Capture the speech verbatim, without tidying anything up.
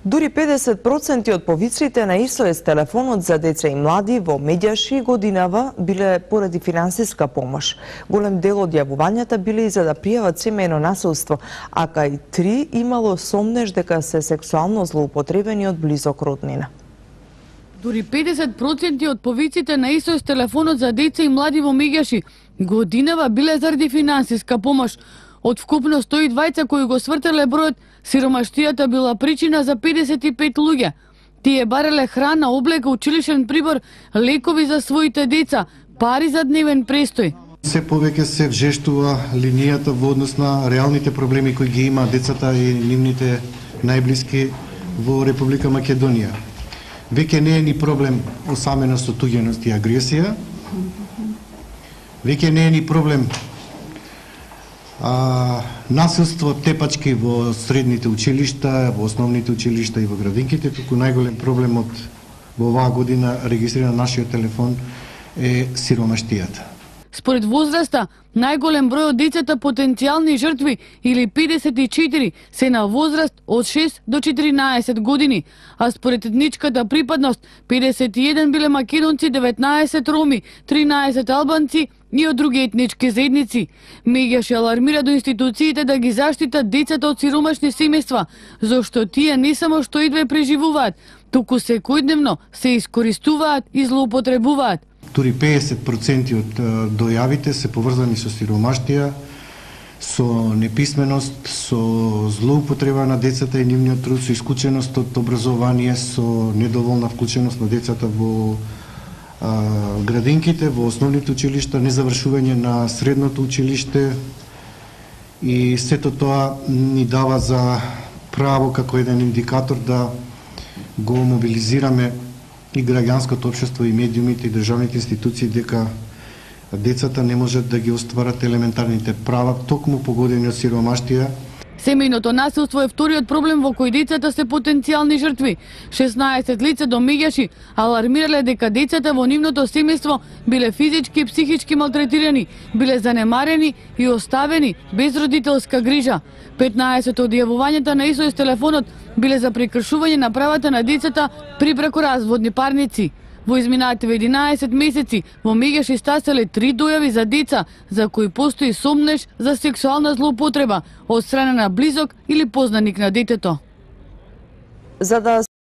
Дури педесет проценти од повиците на ес о ес телефонот за деца и млади во Меѓаши годинава биле поради финансиска помош. Голем дел од јавувањата биле и за да пријават семејно насилство, а кај три имало сомнеж дека се сексуално злоупотребени од близок роднина. Дури педесет проценти од повиците на ес о ес телефонот за деца и млади во Меѓаши годинава биле заради финансиска помош. Од вкупно сто и дваесет кои го свртеле бројот, сиромаштијата била причина за педесет и пет луѓе. Тие бареле храна, облека, училишен прибор, лекови за своите деца, пари за дневен престој. Се повеќе се вжештува линијата во однос на реалните проблеми кои ги има децата и нивните најблиски во Република Македонија. Веќе не е ни проблем осаменост, отуѓеност и агресија. Веќе не е ни проблем А, насилство, тепачки во средните училишта, во основните училишта и во градинките, туку најголем проблем од во оваа година регистриран нашиот телефон е сиромаштијата. Според возраста, најголем број од децата потенцијални жртви или педесет и четири се на возраст од шест до четиринаесет години, а според етничката припадност педесет и еден биле македонци, деветнаесет роми, тринаесет албанци и од други етнички заедници. Меѓаш алармира до институциите да ги заштитат децата од сиромашни семејства, зашто тие не само што идве преживуваат, туку секојдневно се искористуваат и злоупотребуваат. Дури педесет проценти од дојавите се поврзани со сиромаштија, со неписменост, со злоупотреба на децата и нивниот труд, со исклученост од образование, со недоволна вклученост на децата во а, градинките, во основните училишта, незавршување на средното училиште, и сето тоа ни дава за право како еден индикатор да го мобилизираме и граѓанското општество, и медиумите, и државните институции дека децата не можат да ги остварат елементарните права, токму погодени од сиромаштија. Семејното насилство е вториот проблем во кој децата се потенцијални жртви. шеснаесет лица до Меѓаши алармирале дека децата во нивното семејство биле физички и психички малтретирани, биле занемарени и оставени без родителска грижа. петнаесет од јавувањата на ес о ес телефонот биле за прекршување на правата на децата при бракоразводни парници. Во изминативе единаесет месеци во Меѓаши стаселе три дојави за деца за кои постои сомнеж за сексуална злоупотреба од страна на близок или познаник на детето. За да